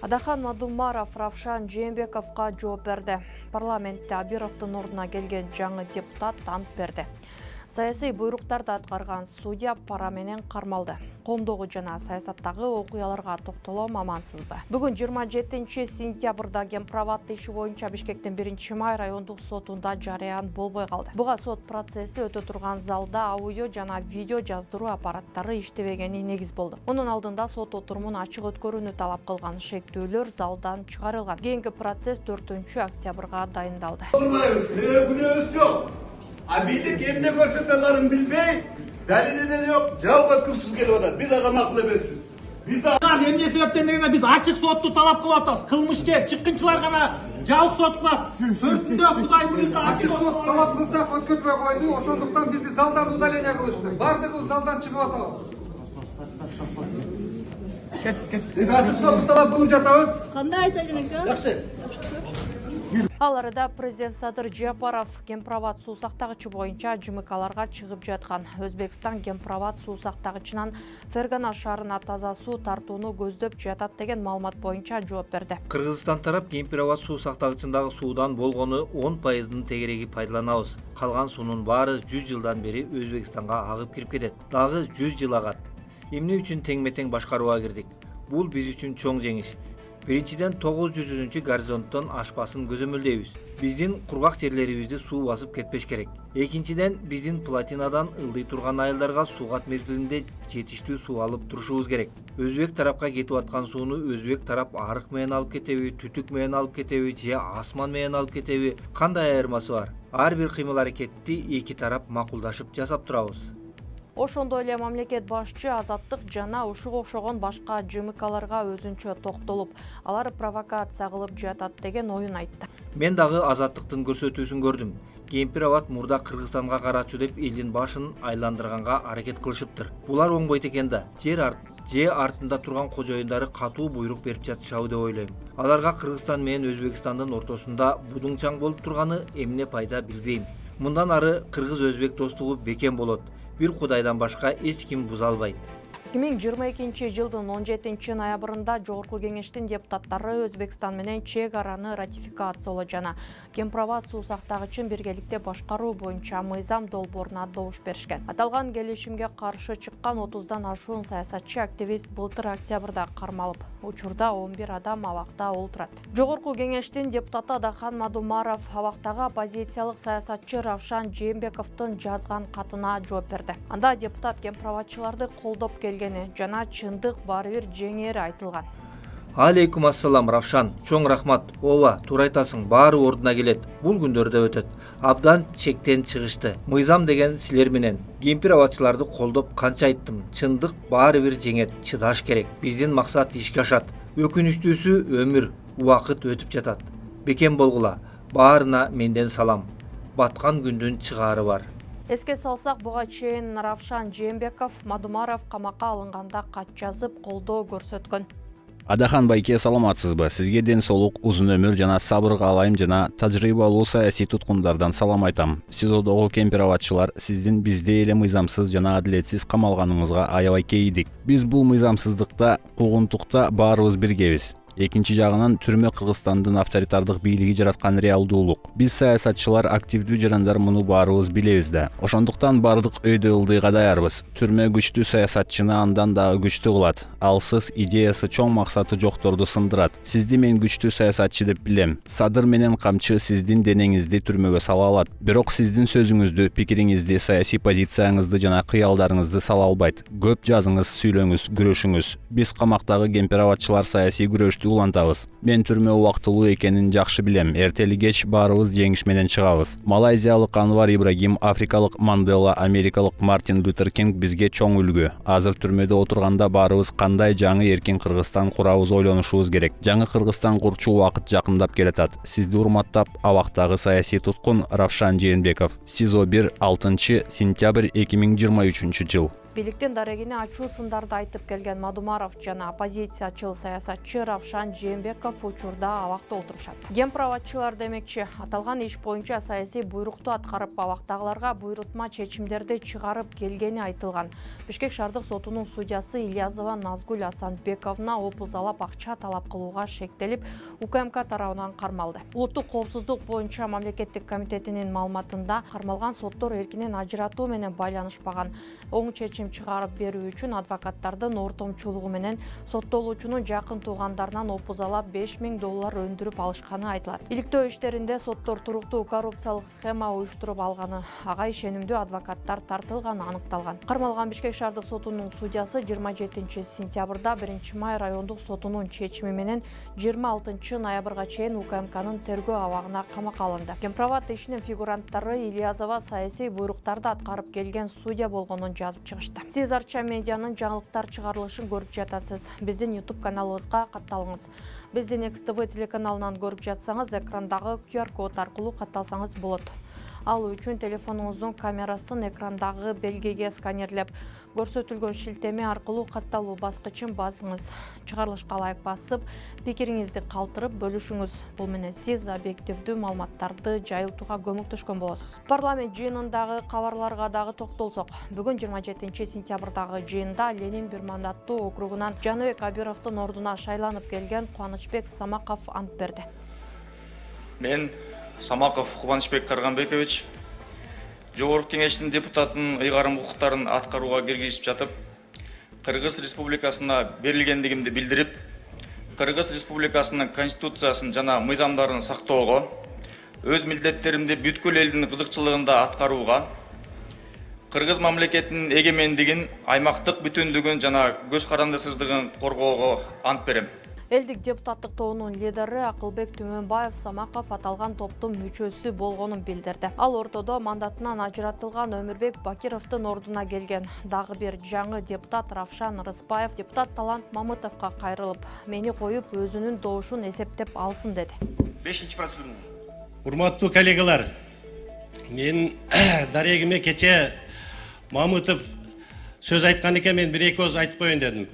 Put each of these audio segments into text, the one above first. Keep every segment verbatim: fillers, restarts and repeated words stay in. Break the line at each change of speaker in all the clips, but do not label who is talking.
Адахан Мадумаров Равшан Жээнбековго жооп берди. Парламентте Абировдун ордуна келген жаңы депутат ант берди. Саясий буйруктарды аткарган судья пара менен кармалды. Коомдогу жана саясаттагы окуяларга токтолом амансызбы? Бүгүн жыйырма жетинчи сентябрда Кемпирабад иши боюнча Бишкектин биринчи май райондук сотунда жарыян болбой калды. Буга сот процесси өтө турган залда аудио жана видео жаздыруу аппараттары иштебегени негиз болду. Мунун алдында сот отурумун ачык өткөрүүнү талап кылган шектүүлөр залдан чыгарылган. Кийинки процесс төртүнчү октябрга дайындалды.
Абийлик эмне көрсөтөлөрүн билбей, далилден жок, жабык өткүрсүз келип атат. Биз ага макул эмеспиз. Биз
эмне себептен дегенде биз ачык сотту талап кылып атабыз. Кылмышкер, чыккынчылар гана жабык сот кылат. Төртүндө Кудай буйруса
ачык сот талап кылсак өткөрбөй койду. Ошондуктан бизди залдан удаление кылышты. Бардыгыбыз залдан чыгып атабыз. Биз ачык сотту талап кылып жатабыз.
Кандай Сайжанека?
Жакшы.
Ал арада президент Садыр Жапаров Кемпирабад суу сактагычы боюнча жымыкаларга чыгып жаткан. Өзбекстан Кемпирабад суу сактагычынан Фергана шаарына таза суу тартууну көздөп жатат деген маалымат боюнча жооп берди.
Кыргызстан тарап Кемпирабад суу сактагычындагы суудан болгону он пайыздын тегереги пайдаланабыз. Калган суунун баары жүз жылдан бери Өзбекстанга агып кирип кетет. Дагы жүз жыл агат. Эмне үчүн тең-метең башкарууга кирдик? Бул биз үчүн чоң жеңиш. Биринчиден тогуз жүзүнчү горизонттон ашпасын көзөмөлдөйбүз. Биздин кургак жерлерибизди суу басып кетпеш керек. Экинчиден биздин плотинадан ылдый турган айылдарга суугат мезгилинде жетиштүү суу алып турушубуз керек. Өзбек тарапка кетип аткан сууну өзбек тарап арык менен алып кетеби, түтүк менен алып кетеби же асман менен алып кетеби, кандай айырмасы бар? Ар бир кыймыл-аракетти эки тарап макулдашып жасап турабыз.
Ошондой эле мамлекет башчы азаттык жана ушуга окшогон башка жымыкаларга өзүнчө токтолуп, алар провокация кылып жатат деген оюн айтты.
Мен дагы азаттыктын көрсөтүүсүн көрдүм. Кемпирабад мурда Кыргызстанга карачу деп элдин башын айландырганга аракет кылышыптыр. Булар оңбойт экен да. Жер арт же артында турган кожоюндары катуу буйрук берип жатышабы деп ойлойм. Аларга Кыргызстан менен Өзбекстандын ортосунда будуңчаң болуп турганы эмне пайда билбейм. Мындан ары кыргыз-өзбек достугу бекем болот. Бир Кудайдан башка эч ким буза албайт.
эки миң жыйырма экинчи жылдын он жетинчи ноябрында Жогорку Кеңештин депутаттары Өзбекстан менен чек араны ратификациялоо жана Кемпирабад суу сактагычын биргеликте башкаруу боюнча мыйзам долбооруна добуш беришкен. Аталган келишимге каршы чыккан отуздан ашуун саясатчы активист былтыр октябрда кармалып, учурда он бир адам абакта олтурат. Жогорку Кеңештин депутаты Адахан Мадумаров абактагы оппозициялык саясатчы Равшан Жээнбековдун жазган катына жооп берди. Анда депутат кемпирабадчыларды колдоп келген жана чындык баары бир жеңери айтылган.
Алейкум ассалам Равшан, чоң рахмат. Ооба, туура айтасың, баары ордуна келет. Бул күндөрдө өтөт. Абдан чектен чыгышты. Мыйзам деген силер менен кемпирабадчыларды колдоп канча айттым. Чындык баары бир жеңет, чыдаш керек. Биздин максат ишке ашат. Өкүнүчтүүсү өмүр, убакыт өтүп жатат. Бекем болгула. Баарына менден салам. Баткан күндүн чыгаары бар.
Эске салсак, буга чейин Равшан Жээнбеков Мадумаров камакка алынганда кат жазып колдоо көрсөткөн.
Адахан байке, саламатсызбы? Сизге ден соолук, узун өмүр жана сабыр каалайм жана тажрыйбалуу саясий туткундардан салам айтам. СИЗОдогу кемпирабадчылар сиздин бизде эле мыйзамсыз жана адилетсиз камалганыңызга аябай кейидик. Биз бул мыйзамсыздыкта, куугунтукта баарыбыз биргебиз. Экинчи жагынан түрмө Кыргызстандын авторитардык бийлиги жараткан реалдуулук. Биз саясатчылар, активдүү жарандар муну баарыбыз билебиз да. Ошондуктан бардык өйдө ылдыйга даярбыз. Түрмө күчтүү саясатчыны андан дагы күчтүү кылат. Алсыз идеясы, чоң максаты жокторду сындырат. Сизди мен күчтүү саясатчы деп билем. Садыр менен камчы сиздин денеңизди түрмөгө сала алат. Бирок сиздин сөзүңүздү, пикириңизди, саясий позицияңызды жана кыялдарыңызды сала албайт. Көп жазыңыз, сүйлөңүз, күрөшүңүз. Биз камактагы кемпирабадчылар саясий күрөштү улантабыз. Мен түрмө убактылуу экенин жакшы билем. Эртели кеч баарыбыз жеңиш менен чыгабыз. Малайзиялык Анвар Ибрагим, африкалык Мандела, америкалык Мартин Лютер Кинг бизге чоң үлгү. Азыр түрмөдө отурганда баарыбыз кандай жаңы эркин Кыргызстан курабыз ойлонушубуз керек. Жаңы Кыргызстан курчу убакыт жакындап келатат. Сизди урматтап, абактагы саясий туткун Равшан Жээнбеков. СИЗО бир, алтынчы сентябрь эки миң жыйырма үчүнчү жыл.
Бийликтин дарегине ачуу сындарды айтып келген Мадумаров жана оппозициячыл саясатчы Равшан Жээнбеков учурда абакта отурушат. Кемпироватчылар демекчи, аталган иш боюнча саясий буйрукту аткарып, абактагыларга буйрутма чечимдерди чыгарып келгени айтылган. Бишкек шаардык сотунун судьясы Ильязова Назгуль Асанбековна опузалап акча талап кылууга шектелип, УКМК тарабынан кармалды. Улуттук коопсуздук боюнча мамлекеттик комитетинин маалыматында кармалган соттор эркинен ажыратуу менен байланышпаган. Оң чечим чыгарып берүү үчүн адвокаттардын ортомчулугу менен соттолуучунун жакын туугандарынан опузалап беш миң доллар өндүрүп алышканы айтылат. Иликтөө иштеринде соттор туруктуу коррупциялык схема уюштуруп алганы, ага ишенимдүү адвокаттар тартылганы аныкталган. Кармалган Бишкек шаардык сотунун судьясы жыйырма жетинчи сентябрда биринчи май райондук сотунун чечими менен жыйырма алтынчы ноябрга чейин УКМКнын тергөө абагына камакка алынды. Кемпироват ишинин фигуранттары Ильязова саясий буйруктарды аткарып келген судья болгонун жазып чыгышты. Сиз Арча медианын жаңылыктар чыгарылышын көрүп жатасыз. Биздин YouTube каналыбызга катталыңыз. Биздин Экс Тэ Вэ телеканалынан көрүп жатсаңыз, экрандагы ку ар код аркылуу катталсаңыз болот. Ал үчүн телефонуңуздун камерасын экрандагы белгиге сканерлеп, көрсөтүлгөн шилтеме аркылуу катталуу баскычын басыңыз. Чыгарылышка ылайык басып, пикириңизди калтырып бөлүшүңүз. Бул менен сиз объективдүү маалыматтарды жайылтууга көмөктөшкөн болосуз. Парламент жыйынындагы кабарларга дагы токтолсок, бүгүн жыйырма жетинчи сентябрдагы жыйында Ленин бир мандаттуу округунан Жаныбек Абировдун ордуна шайланып келген Кубанычбек Самаков ант берди.
Мен Самаков Кубанычбек Карганбекович Жогорку Кеңештин депутатынын ыйгарым укуктарын аткарууга киргизип жатып, Кыргыз Республикасына берилгендигимди билдирип, Кыргыз Республикасынын конституциясын жана мыйзамдарын сактоого, өз милдеттеримди бүткүл элдин кызыкчылыгында аткарууга, Кыргыз мамлекетинин эгемендигин, аймактык бүтүндүгүн жана көз карандысыздыгын коргоого ант берем.
Элдик депутаттык тобунун лидери Акылбек Түмөнбаев Самаков аталган топтун мүчөсү болгонун билдирди. Ал ортодо мандатынан ажыратылган Өмүрбек Бакировдун ордуна келген дагы бир жаңы депутат Равшан Рыспаев депутат Талант Мамытовго кайрылып, мени коюп өзүнүн добушун эсептеп алсын деди.
бешинчи процедура.
Урматтуу коллегалар, мен дарегиме кече Мамытов сөз айткан экен, мен бир эки сөз айтып коеюн дедим.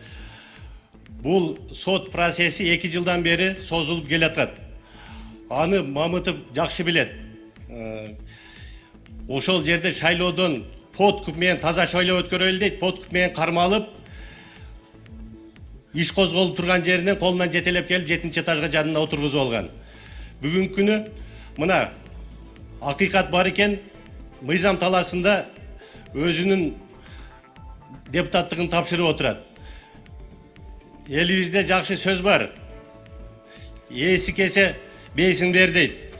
Бул сот процесси эки жылдан бери созулуп келатат. Аны Мамытов жакшы билет. Ошол жерде шайлоодон подкуп менен таза шайлоо өткөрөлү дейт, подкуп менен кармалып, иш козголуп турган жеринен колунан жетелеп келип жетинчи этажга жанына отургузуп алган. Бүгүнкү күнү мына акыйкат бар экен, мыйзам талаасында өзүнүн депутаттыгын тапшырып отурат. Элибизде жакшы сөз бар. Ээси кесе бейсин бер дейт.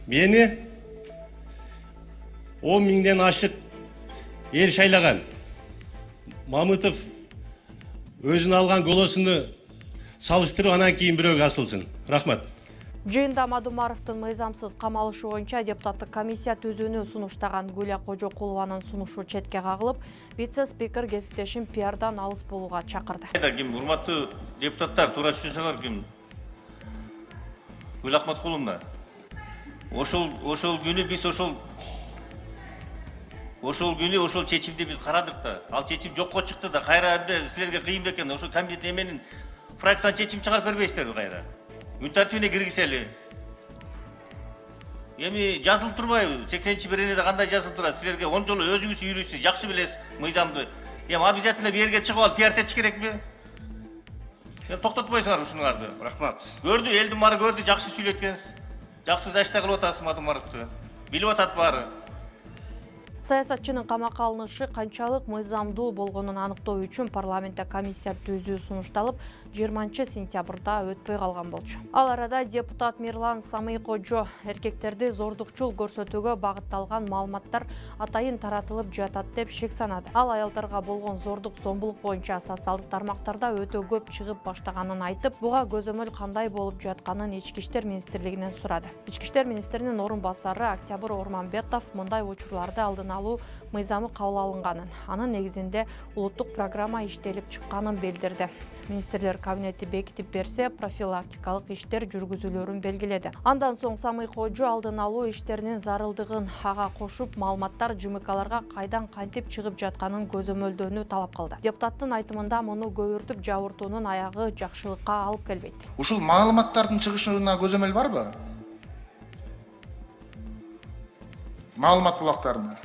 Мени он миңден ашык эл шайлаган. Мамытов өзүнө алган голосуну салыштырып, анан кийин бирөөгө асылсын. Рахмат.
Жыйында Мадумаровдун мыйзамсыз камалышы боюнча депутаттык комиссия түзүүнү сунуштаган Гүлия Кожокулованын сунушу четке кагылып, вице-спикер кесиптешин пиардан алыс болууга чакырды.
Ким урматтуу депутаттар, туура түшүнсөңөр, ким Гүл Акматкуловна. Ошол ошол күнү биз ошол ошол күнү ошол чечимди биз карадык да. Ал чечим жокко чыкты да. Кайра эмне силерге кыйын бекен? Ошол комитет эменин фракциядан чечим чыгарып бербейсиздерби кайра? Күн тартибине киргизели. Эми жазылып турбайбы? сексенинчи беренеде кандай жазылып турат? Силерге он жолу өзүңүз үйрүсүз, жакшы билесиз мыйзамды. Эми обязательно бу жерге чыгып алып пиар этиш керекпи? Эми токтотпойсуңар ушуңарды.
Рахмат.
Көрдү, элдин баары көрдү, жакшы сүйлөткенсиз. Жакшы зачта кылып атасыз Мадумаровду. Билип атат баары.
Саясатчынын камакка алынышы канчалык мыйзамдуу болгонун аныктоо үчүн парламентте комиссия түзүү сунушталып, жыйырманчы сентябрда өтпөй калган болчу. Ал арада депутат Мирлан Самый-Кожо эркектерди зордукчул көрсөтүүгө багытталган маалыматтар атайын таратылып жатат деп шек санады. Ал аялдарга болгон зордук зомбулук боюнча социалдык тармактарда өтө көп чыгып баштаганын айтып, буга көзөмөл кандай болуп жатканын Ички иштер министрлигинен сурады. Ички иштер министринин орун басары Октябрь Орманбетов мындай учурларды алдын алуу мыйзамы кабыл алынганын, анын негизинде улуттук программа иштелип чыкканын билдирди. Министрлер кабинети бекитип берсе, профилактикалык иштер жүргүзүлөрүн белгиледи. Андан соң Самый Кожо алдын алуу иштеринин зарылдыгын ага кошуп, маалыматтар жымыкаларга кайдан кантип чыгып жатканын көзөмөлдөөнү талап кылды. Депутаттын айтымында муну көбүртүп жабыртуунун аягы жакшылыкка алып келбейт.
Ушул маалыматтардын чыгышына көзөмөл барбы? Маалымат булактарына.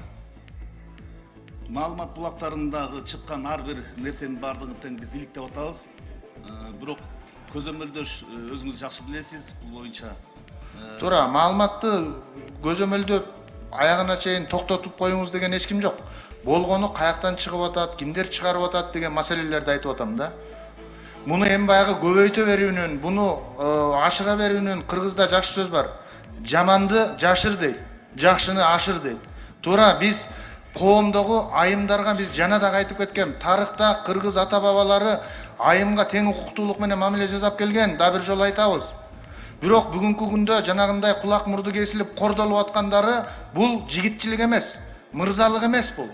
Маалымат булактарындагы чыккан ар бир нерсенин бардыгын тең биз иликтеп атабыз. Бирок көзөмөлдөш өзүңүз жакшы билесиз, бул боюнча.
Туура, маалыматты көзөмөлдөп аягына чейин токтотуп коюңуз деген эч ким жок. Болгону каяктан чыгып атат, кимдер чыгарып атат деген маселелерди айтып атам да. Муну эми баягы көбөйтө берүүнүн, буну ашыра берүүнүн кыргызда жакшы сөз бар. Жаманды жашыр дейт, жакшыны ашыр дейт. Туура, биз коомдогу айымдарга биз жана да айтып кеткен. Тарыхта кыргыз ата бабалары айымга тең укуктуулук менен мамиле жасап келген, да бир жолу айтабыз. Бирок бүгүнкү күндө жанагындай кулак мурду кесилип кордолуп аткандары бул жигитчилик эмес, мырзалык эмес бул.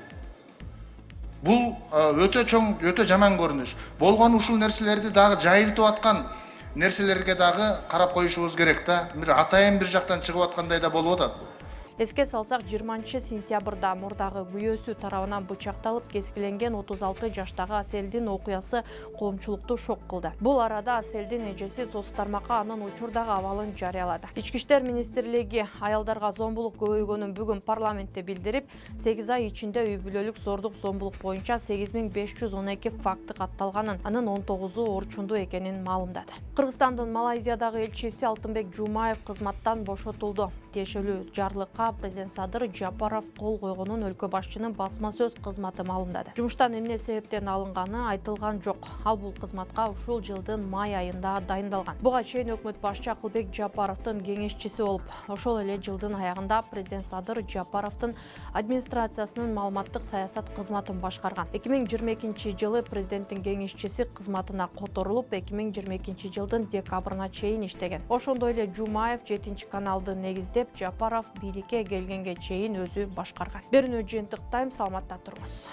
Бул өтө чоң, өтө жаман көрүнүш. Болгон ушул нерселерди дагы жайылтып аткан нерселерге дагы карап коюшубуз керек да. Бир атайын бир жактан чыгып аткандай да болуп атат.
Эске салсак, жыйырманчы сентябрда мурдагы күйөөсү тарабынан бычакталып кескиленген отуз алты жаштагы Аселдин окуясы коомчулукту шок кылды. Бул арада Аселдин эжеси соц тармакка анын учурдагы абалын жарыялады. Ички иштер министрлиги аялдарга зомбулук көбөйгөнүн бүгүн парламентте билдирип, сегиз ай ичинде үй бүлөлүк зордук зомбулук боюнча сегиз миң беш жүз он эки факты катталганын, анын он тогузу орчундуу экенин маалымдады. Кыргызстандын Малайзиядагы элчиси Алтынбек Жумаев кызматтан бошотулду. Тиешелүү жарлыкка президент Садыр Жапаров кол койгонун өлкө башчынын басма сөз кызматы маалымдады. Жумуштан эмне себептен алынганы айтылган жок. Ал бул кызматка ушул жылдын май айында дайындалган. Буга чейин өкмөт башчы Акылбек Жапаровдун кеңешчиси болуп, ошол эле жылдын аягында президент Садыр Жапаровдун администрациясынын маалыматтык саясат кызматын башкарган. эки миң жыйырма экинчи жылы президенттин кеңешчиси кызматына которулуп, эки миң жыйырма экинчи жылдын декабрына чейин иштеген. Ошондой эле Жумаев жетинчи каналды негиздеп, Жапаров бийликке келгенге чейин өзү башкарган. Берүүнү жыйынтыктайм, саламатта туруңуз.